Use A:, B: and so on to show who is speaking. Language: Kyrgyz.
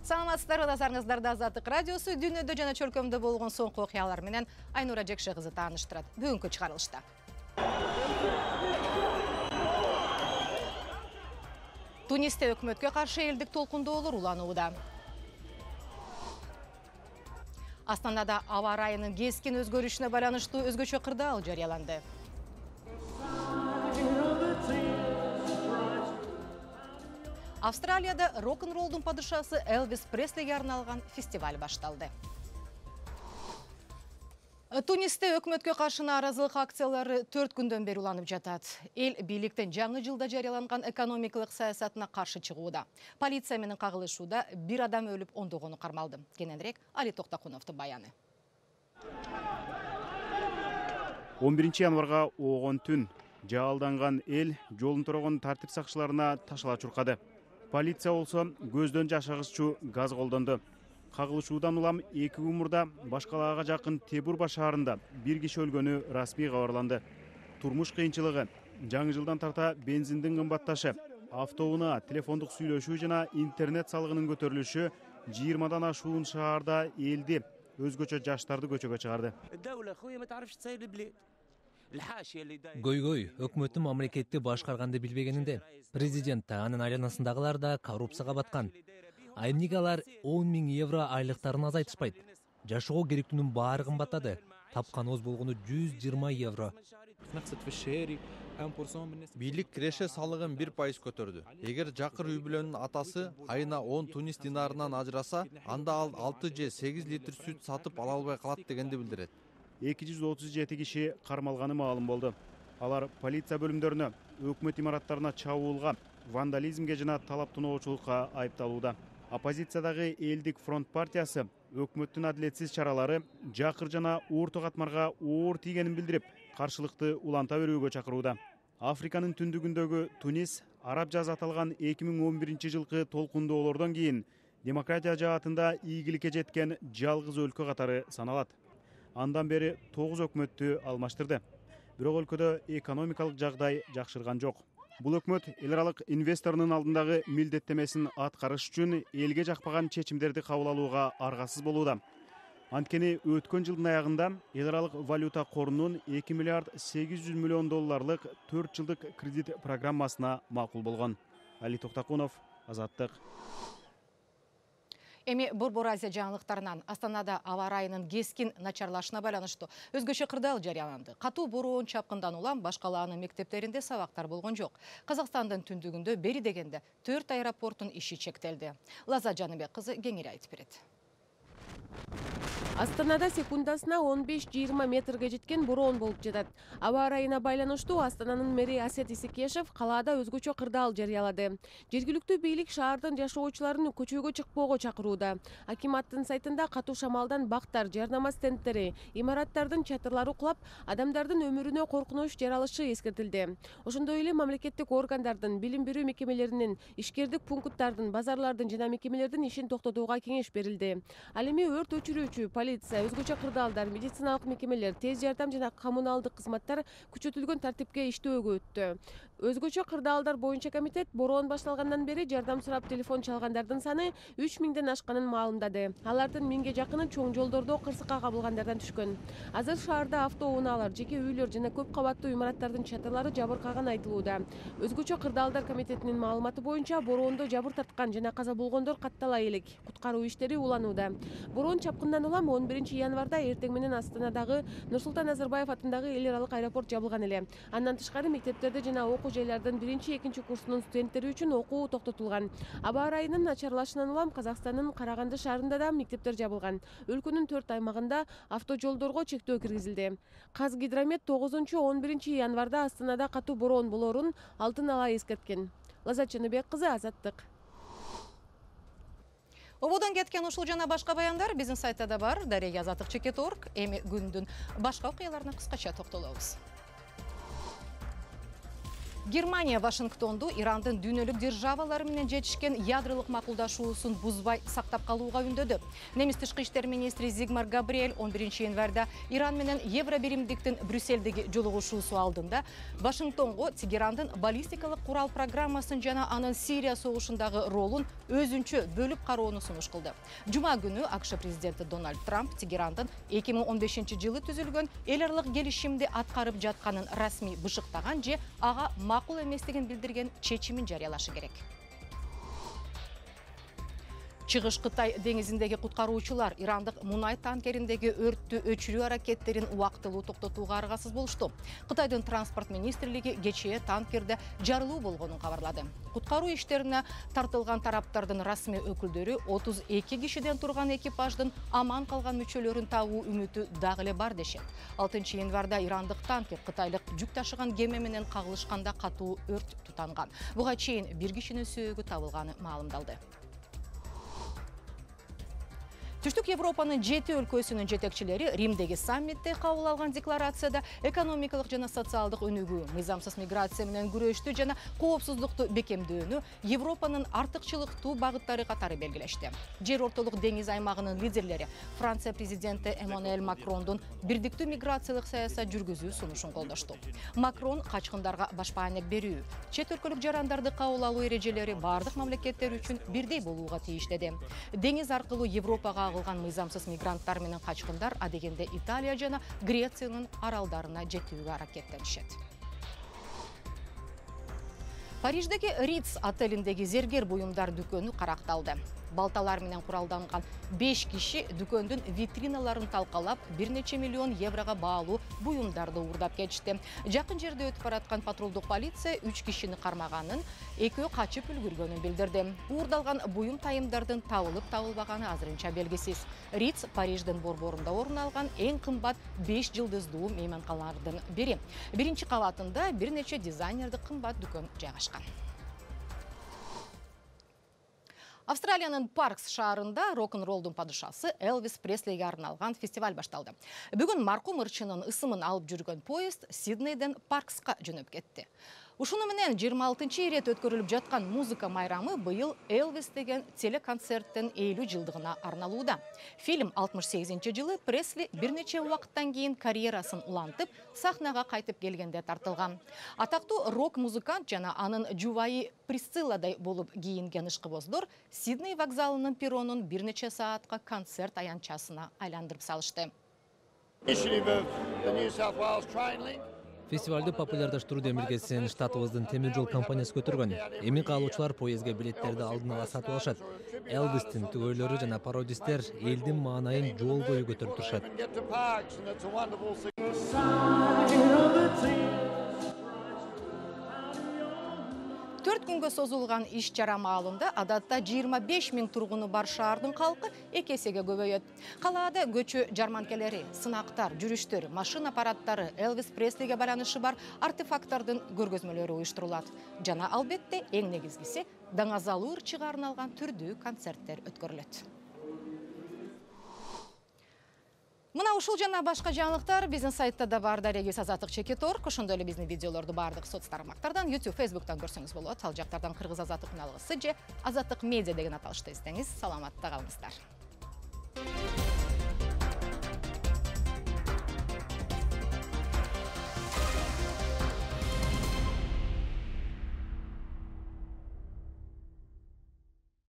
A: Саламатсыздарбы, назарыңыздарда Азаттык радиосу дүйнөдө жана чөлкөмдө болгон соңку окуялар менен Айнура Жекше кызы тааныштырат. Бүгүнкү чыгарылышта. Тунисте өкмөткө каршы элдик толкундоолор уланууда. Астанада аба ырайынын кескин өзгөрүшүнө байланыштуу өзгөчө кырдаал жарыяланды. Австралияда рок-н-роллдун падышасы Элвис Преслиге арналган фестиваль башталды. Тунисте өкмөткө каршы нааразылык акциялары 4 күндөн бери уланып жатат. Эл бийликтин жаңы жылда жарыяланган экономикалык саясатына каршы чыгууда. Полиция менен кагылышууда бир адам өлүп, ондогону кармалды. Кененирээк Али Токтакуновдун баяны.
B: 11 январга оогон түн жаалданган эл жолун торогон тартип сакчыларына ташала чуркады. Полиция болсо көздөн жашагыччу газ колдонду. Кагылышуудан улам 2 күн мурда Башкалаага жакын Тебурба шаарында бир киши өлгөнү расмий кабарланды. Турмуш кыйынчылыгы, жаңы жылдан тарта бензиндин кымбатташы, автоунаа, телефондук сүйлөшүү жана интернет салыгынын көтөрүлүшү 20дан ашуун шаарда элди, өзгөчө жаштарды көчөгө чыгарды.
C: Көйгөй өкмөттүн мамлекетти башкарганды билбегенинден президент да анын айланасындагылар да коррупцияга баткан. Айымника алар 10 000 евро айлыктарын азайтышпайт. Жашоого керектүүнүн баары кымбаттады. Тапкан оз болгону 120 евро.
D: Бийлик киреше салыгын 1% көтөрдү. Эгер жакыр үй бүлөнүн атасы айына 10 тунис динарынан ажыраса, анда ал 6 же 8 литр сүт сатып ала албай калат дегенди билдирет.
B: 237 киши кармалганы маалым болду. Алар полиция бөлүмдөрүнө, өкмөт имараттарына чабуулга, вандализмге жана талап-тоноочулукка айыпталууда. Оппозициядагы Элдик фронт партиясы өкмөттүн адилетсиз чаралары жакыр жана уурту катмарга оор тийгенин билдирип, каршылыкты уланта берүүгө чакырууда. Африканын түндүгүндөгү Тунис араб жазы аталган 2011 жылкы толкундоолордон кийин демократия жаатында ийгиликке жеткен жалгыз өлкө катары саналат. Андан бери 9 өкмөттү алмаштырды. Бирок өлкөдө экономикалык жагдай жакшырган жок. Бул өкмөт эл аралык инвесторунун алдындагы милдеттемесин аткарыш үчүн элге жакпаган чечимдерди кабыл алууга аргасыз болууда. Анткени өткөн жылдын аягында эл аралык валюта корунун 2 миллиард 800 миллион долларлык 4 жылдык кредит программасына макул болгон. Али Токтакунов, Азаттык.
A: Эми Борбор Азия жаңылыктарынан Астанада аба ырайынын кескин начарлашына байланыштуу өзгөчө кырдаал жарыяланды. Катуу бороон чапкындан улам Башкалаанын мектептеринде сабактар болгон жок. Казакстандын түндүгүндө бери дегенде 4 аэропорттун иши чектелди. Лаза Жаныбек кызы кеңири айтып берет.
E: Астанада секундасына 15-20 метрге жеткен бороон болуп жатат. Аба ырайына байланыштуу Астананын мэри Асет Исекешев калаада өзгөчө кырдаал жарыялады. Жергиликтүү бийлик шаардын жашоочуларын көчөгө чыкпоого чакырууда. Акиматтын сайтында катуу шамалдан бактар, жарнама стендтери, имараттардын чатырлары кулап, адамдардын өмүрүнө коркунуч жаралышы эскертилди. Ошондой эле мамлекеттик органдардын, билим берүү мекемелеринин, ишкердик пункттардын, базарлардын жана мекемелердин ишин токтотууга кеңеш берилди. Ал эми өрт өчүрүүчү, полиция, өзгөчө кырдаалдар, медициналык мекемелер, тез жардам жана коммуналдык кызматтар күчөтүлгөн тартипке иштөөгө өттү. Өзгөчө кырдаалдар боюнча комитет бороон башталгандан бери жардам сурап телефон чалгандардын саны 3000ден ашканын маалымдады. Алардын 1000ге жакыны чоң жолдордо кырсыкка кабылгандардан түшкөн. Азыр шаарда автоунаалар, жеке үйлөр жана көп кабаттуу имараттардын чатырлары жабыркаганы айтылууда. Өзгөчө кырдаалдар комитетинин маалыматы боюнча бороондо жабыр тарткан жана каза болгондор каттала элек. Куткаруу иштери уланууда. Бороон чапкындан улам 11 январда эртең менен Астанадагы Нурсултан Назарбаев атындагы эл аралык аэропорт жабылган эле. Андан тышкары мектептерде жана окуу жайлардын 1-2 курсунун студенттери үчүн окуу токтотулган. Аба ырайынын начарлашынан улам Казакстандын Караганды шаарында да мектептер жабылган. Өлкөнүн 4 аймагында автожолдорго чектөө киргизилди. Казгидромет 9-11 январда Астанада катуу бороон болоорун алдын ала эскерткен. Лаза Жаныбек кызы, Азаттык.
A: Ободон кеткен ушул жана башка баяндар биздин сайтта да бар. Дарега Азаттык.org. Эми күндүн башка окуяларына кыскача токтолобуз. Германия Вашингтонду Ирандын дүйнөлүк державалары менен жетишкен ядролук макулдашуусун бузбай сактап калууга үндөдү. Немис тышкы иштер министри Зигмар Габриэль 11-январда Иран менен Евробиримдиктин Брюссельдеги жолугушуусу алдында Вашингтонго Тегерандын баллистикалык курал программасын жана анын Сирия согушундагы ролун өзүнчө бөлүп кароону сунуш кылды. Жума күнү АКШ президенти Дональд Трамп Тегерандын 2015-жылы түзүлгөн эл аралык келишимди аткарып жатканын расмий бышыктаган же ага макул эместигин билдирген чечимин жарыялашы керек. Чыгыш Кытай деңизиндеги куткаруучулар ирандык мунай танкериндеги өрттү өчүрүү аракеттерин убактылуу токтотууга аргасыз болушту. Кытайдын транспорт министрлиги кечээ танкерде жарылуу болгонун кабарлады. Куткаруу иштерине тартылган тараптардын расмий өкүлдөрү 32 кишиден турган экипаждын аман калган мүчөлөрүн табуу үмүтү дагы эле бар дешет. 6-январда ирандык танкер кытайлык жүк ташыган кеме менен кагылышканда катуу өрт тутанган. Буга чейин бир кишинин сөөгү табылганы маалымдалды. Түштүк Европанын 7 өлкөсүнүн жетекчилери Римдеги саммитте кабыл алган декларацияда экономикалык жана социалдык өнүгүү, мыйзамсыз миграция менен күрөштү жана коопсуздукту бекемдөөнү Европанын артыкчылыктуу багыттары катары белгилешти. Жер ортолук деңиз аймагынын лидерлери Франция президенти Эммануэль Макрондун бирдиктүү миграциялык саясат жүргүзүү сунушун колдошту. Макрон качкындарга башпаанек берүү, чет өлкөлүк жарандарды кабыл алуу эрежелери бардык мамлекеттер үчүн бирдей болууга тийиш деди. Деңиз аркылуу Европага агылган мыйзамсыз мигранттар менен качкындар адегенде Италия жана Грециянын аралдарына жетүүгө аракеттенишет. Париждеги Ritz отелиндеги зергер буюмдар дүкөнү каракталды. Балталар менен куралданган 5 киши дүкөндүн витриналарын талкалап, 1 нече миллион еврого баалуу буюмдарды уурдап кетишти. Жакын жерде өтүп бараткан патрулдук полиция 3 кишини кармаганын, экөө качып үлгүргөнүн билдирди. Уурдалган буюм тайымдардын табылып табылбаганы азырынча белгисиз. Ritz Париждин борборунда орун алган эң кымбат 5 жылдыздуу мейманканалардын бири. Биринчи кабатында бир нече дизайнердик кымбат дүкөн жайгашкан. Австралиянын Паркс шаарында рок-н-ролдун падышасы Элвис Преслиге арналган фестиваль башталды. Бүгүн маркум ырчынын ысымын алып жүргөн поезд Сиднейден Паркска жөнөп кетти. Ушуну менен 26-чы ирет өткөрүлүп жаткан музыка майрамы быйыл Элвис деген телеконцерттин 50 жылдыгына арналууда. Фильм 68-жылы Пресли бир нече убакыттан кийин карьерасын улантып, сахнага кайтып келгенде тартылган. Атактуу рок-музыкант жана анын жубайы Присцилладай болуп кийинген ышкыбоздор Сидней вокзалынын перронун бир нече саатка концерт аянтчасына айландырып салышты.
C: Фестивалды популярдаштыруу демилгесин штатыбыздын темир жол компаниясы көтөргөн. Эми каалоочулар поездге билеттерди алдын ала сатып алышат. Элвистин түгөйлөрү жана пародисттер элдин маанайын жол бою көтөрүп турушат.
A: 4 күнгө созулган иш чара маалында адатта 25 000 тургуну бар шаардын калкы 2 эсеге көбөйөт. Калаада көчө жарманкелери, сынактар, жүрүштөр, машина аппараттары, Элвис Преслиге байланышы бар артефакттардын көргөзмөлөрү уюштурулат. Жана албетте эң негизгиси даңазалуу ырчыга арналган түрдүү концерттер өткөрүлөт. Мына ушул жана башка жаңылыктар биздин сайтта да бар. Дарегиз Азаттык Чекиторг. Ошондой эле биздин видеолорду бардык соц тармактардан, YouTube, Facebook'тан көрсөңүз болот. Ал жактардан Кыргыз Азаттык каналыбызды же Азаттык медиа деген аталышты издеңиз. Саламатта калыңыздар.